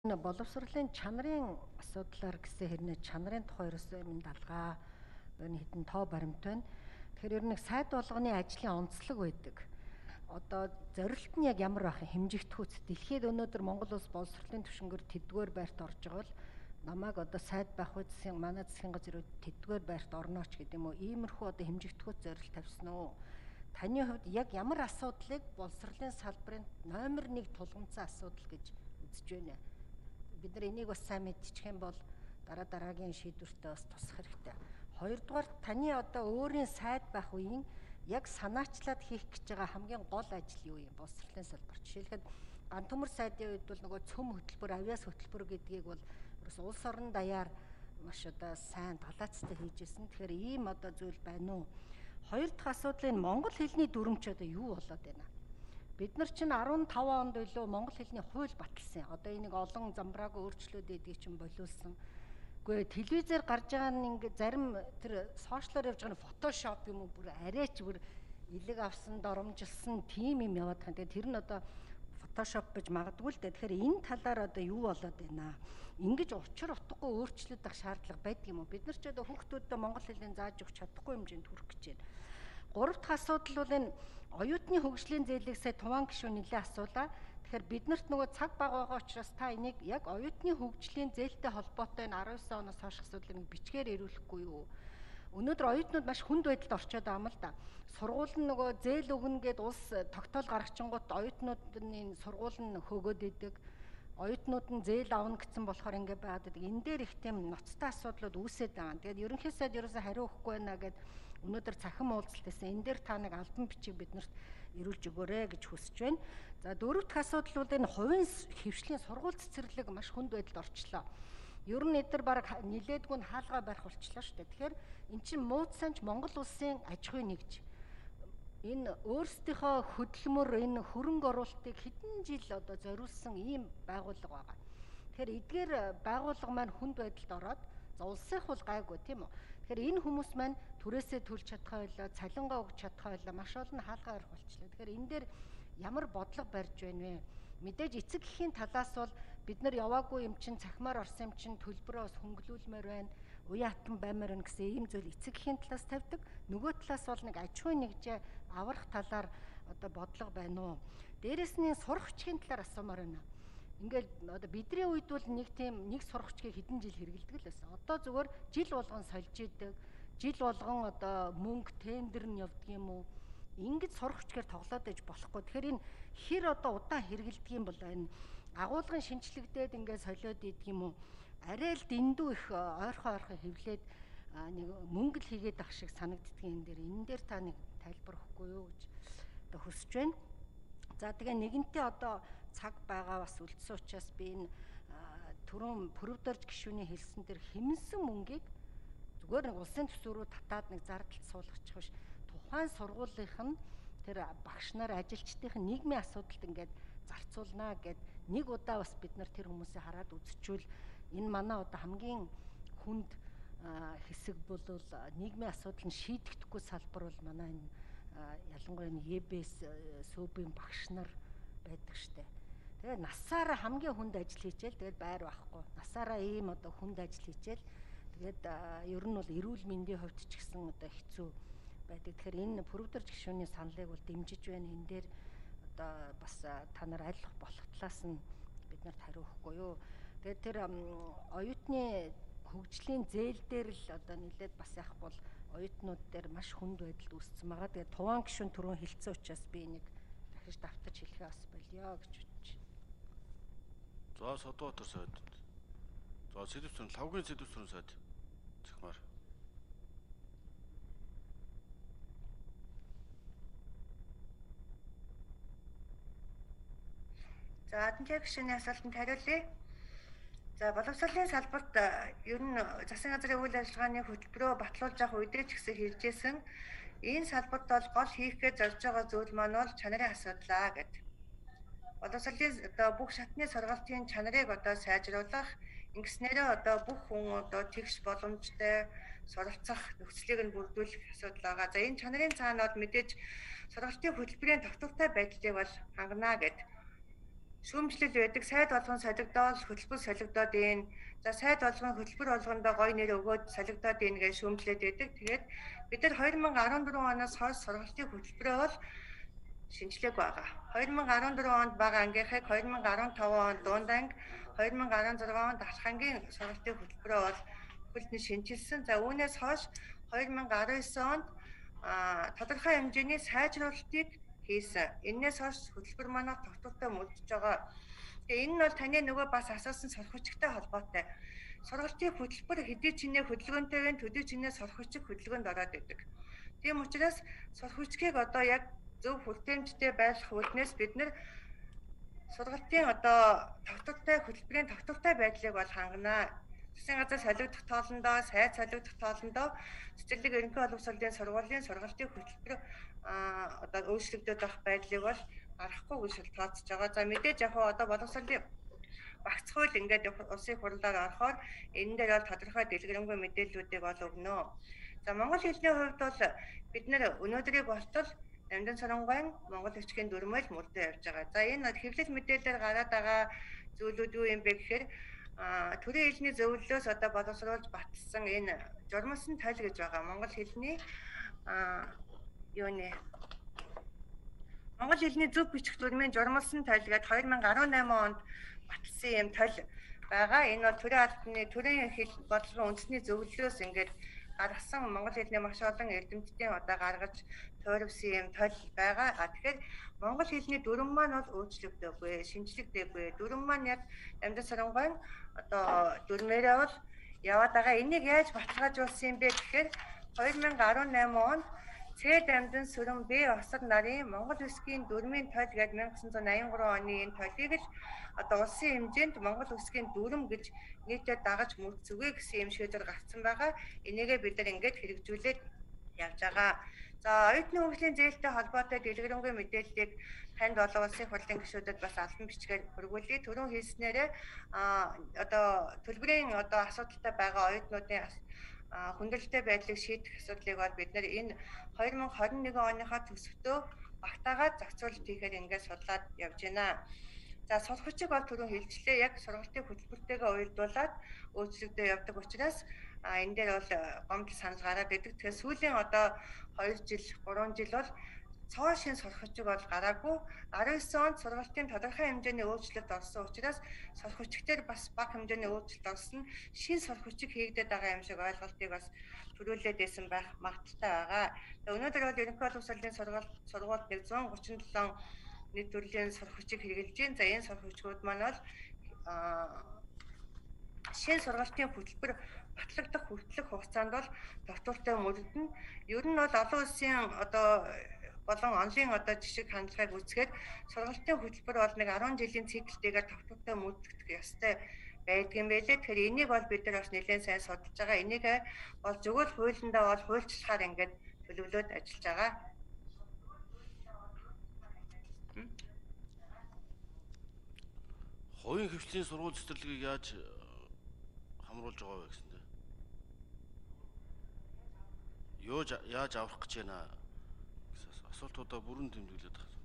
Боловсролын чанарын асуудлаар гэсэн хэрнээ чанарын тухай ерөөсөө юм далгаа ер нь хэдэн тоо баримт байна. Тэгэхээр ер нь сайд болгоны ажлын онцлог байдаг. Одоо зорилт нь яг ямар байх хэмжигдэхүйц дэлхийд өнөөдөр Монгол улс боловсролын түвшингээр тэдгээр байрт орж байгаа бол намайг одоо сайд байх үеийн манай засгийн газрын тэдгээр байрт орнооч гэдэг юм уу иймэрхүү одоо хэмжигдэхүйц зорилт тавьсан уу? Таны хувьд яг ямар асуудлыг боловсролын салбарын номер 1 тулгымцсан асуудал гэж үзэж байна? Бид нар энийг бас сайн мэдчих юм бол дараагийн шийдвэртээ бас тусах хэрэгтэй. Хоёрдугаар таны одоо өөрийн сайд байх үеийн яг санаачлаад хийх гэж байгаа хамгийн гол ажил юу юм? Боловсролын салбар. Жишээлхэд ган төмөр сайдын үед бол нөгөө цөм хөтөлбөр, авиас хөтөлбөр гэдгийг бол ерөөс улс орон даяар маш одоо сайн талаацтай хийжсэн. Тэгэхээр ийм одоо зүйл байна уу? Хоёр дахь асуудал энэ монгол хэлний дүрмч одоо юу болоод байна? Бид нар чинь 15 онд илүү монгол хэлний хууль баталсан. Одоо энийг олон замбраагүй өөрчлөлт эдгийг чинь болиулсан. Үгүй телевизээр гарч байгаа нь ингээ зарим тэр сошиалоор явж байгаа нь фотошоп юм уу бүр арайч бүр илэг авсан, доромжилсан тийм юм яваад байгаа. Тэгээ тэр нь одоо фотошоп гэж магадгүй л дээ. Тэгэхээр энэ талаар одоо юу болоод байна? Ингиж учир утгагүй өөрчлөлт авах шаардлага байдаг юм уу? Бид нар ч одоо хүүхдүүдэд монгол хэлийг зааж өгч чадахгүй хэмжээнд хүрэх гэж байна. Гурав дахь асуудал бол энэ оюутны хөгжлийн зээлийг сая Туван гишүүн нэлээд асуулаа. Тэгэхээр биднэрт нөгөө цаг бага байгаа учраас та энийг яг оюутны хөгжлийн зээлтэй холбоотой энэ 19 оноос хойш асуудлыг бичгээр ирүүлэхгүй юу? Өнөөдөр оюутнууд маш хүнд байдалд орчоод байгаа юм л да. Сургууль нь нөгөө зээл өгнө гэд улс тогтоол гаргачингууд оюутнуудын сургууль нь хөөгөөд идэг. Оюутнууд нь зээл авна гэсэн болохоор ингэ байгаад байдаг. Энэ дээр их тийм ноцтой асуудлууд үүсээд байгаа. Тэгээд ерөнхий сайд ерөөсө хариу өгөхгүй байна гэд өнөөдөр цахим уулзалтайсан. Энэ дээр та нэг албан бичиг биднэрт ирүүлж өгөөрэй гэж хүсэж байна. За дөрөв дэх асуудал бол энэ хувийн хөвшлийн сургууль цэцэрлэг маш хүнд байдалд орчлоо. Ер нь эдгээр баг нилээдгүй нь хаалгаа барих болчлоо шүү дээ. Тэгэхээр эн чинь муудсанч Монгол улсын аж ахуй нэгж энэ өөрсдийнхөө хөдөлмөр энэ хөрөнгө оруулалтыг хэдэн жил одоо зориулсан ийм байгууллага байгаа. Тэгэхээр эдгээр байгууллага маань хүнд байдалд ороод за улсынх бол гайгүй тийм үү. Тэгэхээр энэ хүмүүс маань түрээсээ төлж чадхаа байлаа, цалингаа өгч чадхаа байлаа, маш олон хаалгаа барих болчлоо. Тэгэхээр энэ дээр ямар бодлого барьж байна вэ? Мэдээж эцэг эхийн талаас бол бид нар яваагүй юм чинь цахимаар орсон юм чинь төлбөрөө бас хөнгөлүүлмээр байна. Уян хатан баймаар байна гэсэн ийм зүйл эцэг эхийн талаас тавьдаг. Нөгөө талаас бол нэг аж ахуй нэгжээ аврах талаар одоо бодлого байна уу? Дээрээс нь сурагчийн талаар асуумаар байна. Ингээл одоо бидний үед бол нэг сурагчгийг хэдэн жил хэрэгэлдэг л байсан. Одоо зүгээр жил болгон сольж идэг. Жил болгон одоо мөнгө тендер нь явдаг юм уу? Ингэж сурагчгаар тоглоод байж болохгүй. Тэгэхээр энэ хэр одоо удаан хэрэгэлдэг юм бол энэ агуулгын шинжлэгдээд ингээд солиод идэг юм уу? Арай л дэндүү их ойрхон хөвлөөд нэг мөнгө л хийгээд ах шиг санагддгийн энэ дээр та нэг тайлбар өгөхгүй юу гэж одоо хүсэж байна. За тэгээ нэгэнтээ одоо цаг байгаа бас үлдсэн учраас би энэ түрүүн Пүрэвдорж гишүүний хэлсэн тэр хэмнсэн мөнгийг зүгээр нэг улсын төсөв рүү татаад нэг зардалд суулгачих биш. Тухайн сургуулийнх нь тэр багш нар ажилчдын нийгмийн асуудалд ингээд зарцуулнаа гэд нэг удаа бас бид нар тэр хүмүүсийг хараад үзчихвэл энэ манай одоо хамгийн хүнд хэсэг бол нийгмийн асуудал нь шийдэгдэхгүй салбар бол манай энэ ялангуяа энэ ЕБС сүүбийн багш нар байдаг штэ. Тэгээ насаараа хамгийн хүнд ажил хийчихэл тэгээд байр байхгүй. Насаараа ийм одоо хүнд ажил хийчихэл тэгээд ер нь бол эрүүл мэндийн хувьд ч гэсэн одоо хэцүү байдаг. Тэгэхээр энэ Пүрэвдорж гишүүний саналыг бол дэмжиж байна. Энэ дээр одоо бас та нар айлах болох талаас нь бид нарт хариу өгөхгүй юу. Тэгээд тэр оюутны хөгжлийн зээл дээр л одоо нэлээд бас яах бол оюутнууд дээр маш хүнд байдалд үүссэн байгаа. Тэгээд Туван гишүүн түрүүн хэлсэн учраас би энийг дахиж давтаж хэлэхээ бас болио гэж бодож байна. За Содбаатар сайд. За сэдвчэн лавгийн сэдвчэн сайд. Цахимаар. За Админтер гишүүний асуултанд хариулъя. За боловсролын салбарт ер нь засгийн газрын үйл ажиллагааны хөтөлбөрөө батлуулж авах үедээ ч гэсэн хэлжсэн энэ салбарт бол гол хийх гэж зорж байгаа зүйл маань бол чанарын асуудлаа гэдэг. Боловсролын одоо бүх шатны сургалтын чанарыг одоо сайжруулах, ингэснээрээ одоо бүх хүн одоо тэгш боломжтой суралцах нөхцөлийг нь бүрдүүлэх асуудал байгаа. За энэ чанарын цаана бол мэдээж сургалтын хөтөлбөрийн тогтвортой байдлыг бол хангана гэдэг. шүүмжлэл байдаг. Сайд болгон солигдоод хөтөлбөр солигдоод ийн. За сайд болгон хөтөлбөр болгондоо гоё нэр өгөөд солигдоод ийн гэж шүүмжлээд байдаг. Тэгээд бид нар 2014 оноос хойш сургалтын хөтөлбөрөө бол шинжлэх байгаа. 2014 онд бага ангийнхыг 2015 онд дунд анги, 2016 онд алх ангийн сургалтын хөтөлбөрөө бол бүхэлдэн шинжилсэн. За үүнээс хойш 2019 онд тодорхой хэмжээний сайжруулалтыг хийсэн. Энээс хойш хөтөлбөр манай тогтвортой мөрдөж байгаа. Тэгээ энэ нь бол таны нөгөө бас асуусан сурахчтай холбоотой. Сургалтын хөтөлбөр хэдий чинээ хөдөлгөөнтэйг төдий чинээ сурахчиг хөдөлгөөнд ороод идэг. Тийм учраас сурахчгийг одоо яг зөв хүртээмжтэй байлгах үүднээс бид нэр сургалтын одоо тогтвортой хөтөлбөрийн тогтвортой байдлыг бол ханганаа. Засгийн газар солигдох тоолондоо, сайд солигдох тоолондоо цэцэрлэг ерөнхий боловсролын сургуулийн сургалтын хөтөлбөр одоо өөрчлөгдөж байх байдлыг бол гаргахгүй гэж тооцож байгаа. За мэдээж яг одоо боловсролын багц хууль ингээд улсын хурлаар орохоор энэ дээр бол тодорхой дэлгэрэнгүй мэдээллүүдийг бол өгнө. За монгол хэлний хувьд бол бид нэр өнөөдрийг болтол Намдан Сарангойн монгол бичгийн дүрмэл мөрдөө явж байгаа. За энэ хэвлэл мэдээлэлээр гараад байгаа зүйлүүд юу юм бэ гэхээр төрийн хэлний зөвлөлөөс одоо боловсруулж батсан энэ журмалсан тойл гэж байгаа. Монгол хэлний Монгол хэлний зөв бичих дүрмийн журмалсан тойл гэдэг 2018 онд батсан юм тойл байгаа. Энэ бол төрийн хэл бодлогын үндэсний зөвлөлөөс ингээд гаргасан монгол хэлний маш олон эрдэмтдийн одоо гаргаж тойрвсан юм тойл байгаа. Тэгэхээр монгол хэлний дүрм маань бол өөрчлөгдөөгүй, шинжлэгдээгүй. Дүрм маань яг Намдан Сарангойн одоо дүрмээрээ бол яваад байгаа. Энийг яаж баталгаажуулсан юм бэ гэхээр 2018 онд Цэд Намдан Сүрэн Б Осор нарын Монгол Үсгийн дүрмийн тойл гээд 1983 оны энэ тойлыг л одоо улсын хэмжээнд Монгол Үсгийн дүрм гэж нийтэд дагаж мөрцөгөө гэсэн юм шийдвэр гаргасан байгаа. Энийгээ бид нар ингээд хэрэгжүүлээд явж байгаа. За оюутны хөгжлийн зээлтэй холбоотой дэлгэрэнгүй мэдээллийг танд болон улсын хурлын гишүүдэд бас албан бичгээр хүргүүлье. Түрүүн хэлснээрээ одоо төлбөрийн одоо асуудалтай байгаа оюутнуудын хүндрэлтэй байдлыг шийдэх асуудлыг бол бид нар энэ 2021 оныхоо төсөвтөө багтаагаад зохицуулалт хийхээр ингээд судлаад явж байна. За сурахчиг бол түрүү хэлжлээ. Яг сургалтын хөтөлбөртэйгээ уялдуулаад өөрчлөгдөж явдаг учраас энэ дээр бол гомдол санал гараад идэг. Тэгэхээр сүүлийн одоо 2 жил, 3 жил бол цоо шин сурахчиг бол гараагүй. 19 онд сургалтын тодорхой хэмжээний өөрчлөлт орсон учраас сурахчигтэр бас бага хэмжээний өөрчлөлт орсон. Шин сурахчиг хийгдээд байгаа юм шиг ойлголтыг бас төрүүлээд байсан байх магадaltaй байгаа. Өнөөдөр бол ерөнхий боловсролын сургуульд 137 нийт төрлийн сурахчиг хэрэгжилж байна. За энэ сурахчгууд маань бол шин сургалтын хөтөлбөр батлагдах хүртэлх хугацаанд бол доктортой мөрдөн. Ер нь бол олон улсын одоо болон онлайн одоо жишг хандлагыг үзэхэд сургалтын хөтөлбөр бол нэг 10 жилийн циклтэйгээр доктортой мөрдөгдөх ёстой байдгийн байлээ. Тэгэхээр энийг бол бид нар бас нэлээд сайн судалж байгаа. Энийг бол зөвхөн хуулиндаа бол хуульчлахаар ингээд төлөвлөд ажиллаж байгаа. Хувийн хвшлийн сургууль цэцэрлэгийг яаж хамруулж байгаа вэ гэсэндээ? Яаж аврах гэж байна? Асуултуудаа бүрэн тэмдэглээд байна.